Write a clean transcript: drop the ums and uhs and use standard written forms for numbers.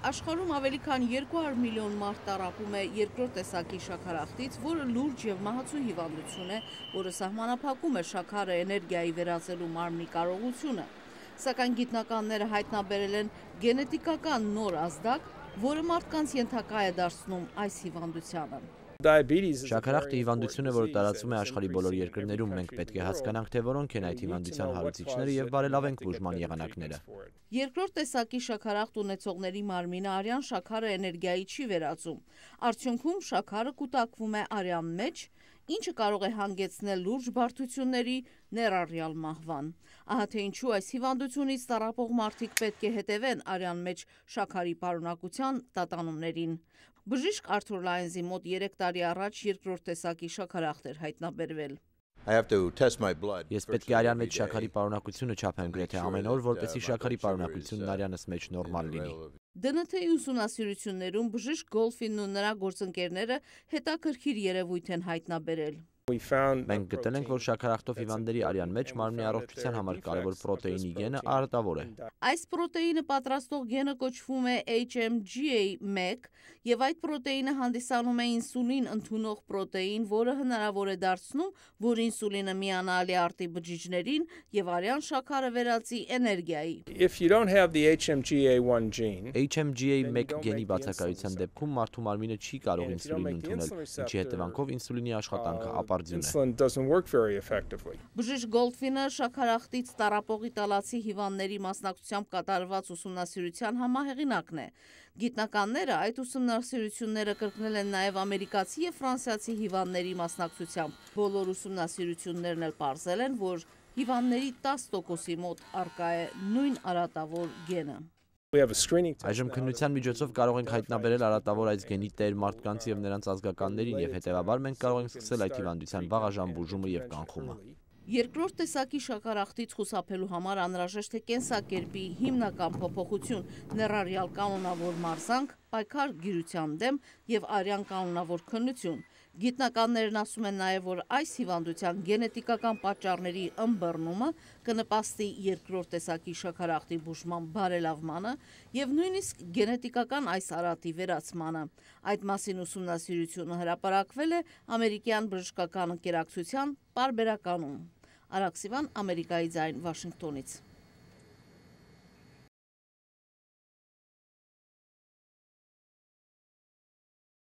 Աշխարհում ավելի քան 200 միլիոն մարդ տառապում է երկրորդ տեսակի շաքարախտից, որը լուրջ եւ մահացու հիվանդություն է, որը սահմանափակում է շաքարը էներգիայի վերածելու մարմնի կարողությունը։ Սակայն գիտնականները հայտնաբերել են գենետիկական նոր ազդակ, որը մարդկանց ենթակա է դարձնում այս հիվանդությանը։ Շաքարախտը հիվանդություն է, որը տարածվում է աշխարհի բոլոր երկրներում։ Մենք պետք է հասկանանք, թե որոնք են այդ հիվանդության հարուցիչները եւ բարելավենք բուժման եղանակները։ Երկրորդ տեսակի շաքարախտ ունեցողների մարմինը արյան շաքարը էներգիայի չի վերածում։ Արդյունքում շաքարը կուտակվում է արյան մեջ, ինչը կարող է հանգեցնել լուրջ բարդությունների, ներառյալ մահվան։ Ահա թե ինչու այս հիվանդությունից տառապող մարդիկ պետք է հետևեն արյան մեջ շաքարի պարունակության տատանումներին։ Բժիշկ Արթուր Լայնզի մոտ 3 տարի առաջ երկրորդ տեսակի շաքարախտ էր հայտնաբերվել։ Ես պետք է արյան մեջ շաքարի պարունակությունը չափեմ գրեթե ամեն օր, որպեսզի շաքարի պարունակությունն արյանս մեջ նորմալ լինի։ ԴՆԹ-ի ուսումնասիրություններում բժիշկ Գոլֆինն ու նրա գործընկերները հետաքրքիր երևույթ են հայտնաբերել։ Մենք գտել ենք, որ շաքարախտով հիվանդների արյան մեջ մարմնի առողջության համար կարևոր պրոտեինի գենը արտավոր է։ Այս պրոտեինը պատրաստող գենը կոչվում է HMGA1 եւ այդ պրոտեինը հանդիսանում է ինսուլին ընդունող պրոտեին, որը հնարավոր է դարձնում, որ ինսուլինը միանալի արտի բջիջներին եւ արյան շաքարը վերածի էներգիայի։ HMGA1 գենի բացակայության դեպքում մարդու մարմինը չի կարող ինսուլին ընդունել, ինչի հետևանքով ինսուլինի աշխատանքը ապարդյուն է։ Բժիշկ Գոլդֆինը շաքարախտից տառապող իտալացի հիվանդների մասնակցությամբ կատարված ուսումնասիրության համահեղինակն է։ Գիտնականները այդ ուսումնասիրությունները կրկնել են նաև ամերիկացի եւ ֆրանսիացի հիվանդների մասնակցությամբ։ Բոլոր ուսումնասիրություններն էլ պարզել են, որ հիվանդների 10%-ի մոտ առկա է նույն արատավոր գենը։ Այժմ քննության միջոցով կարող ենք հայտնաբերել արատավոր այս գենի տեր մարդկանց եւ նրանց ազգականներին եւ հետեւաբար մենք կարող ենք սկսել այդ հիվանդության վաղաժամ բուժումը եւ կանխումը։ Երկրորդ տեսակի շաքարախտից խուսափելու համար անհրաժեշտ է կենսակերպի հիմնական փոփոխություն, ներառյալ կանոնավոր մարզանք, պայքար գիրության դեմ եւ արյան կանոնավոր քննություն։ Գիտնականներն ասում են նաև, որ այս հիվանդության գենետիկական պատճառների ըմբռնումը կնպաստի երկրորդ տեսակի շաքարախտի բուժման բարելավմանը եւ նույնիսկ գենետիկական այս արատի վերացմանը։ Այդ մասին ուսումնասիրությունը հրապարակվել է ամերիկյան բժշկական ընկերակցության պարբերականում։ Արաքսիվան, Ամերիկայի ձայն, Վաշինգտոնից։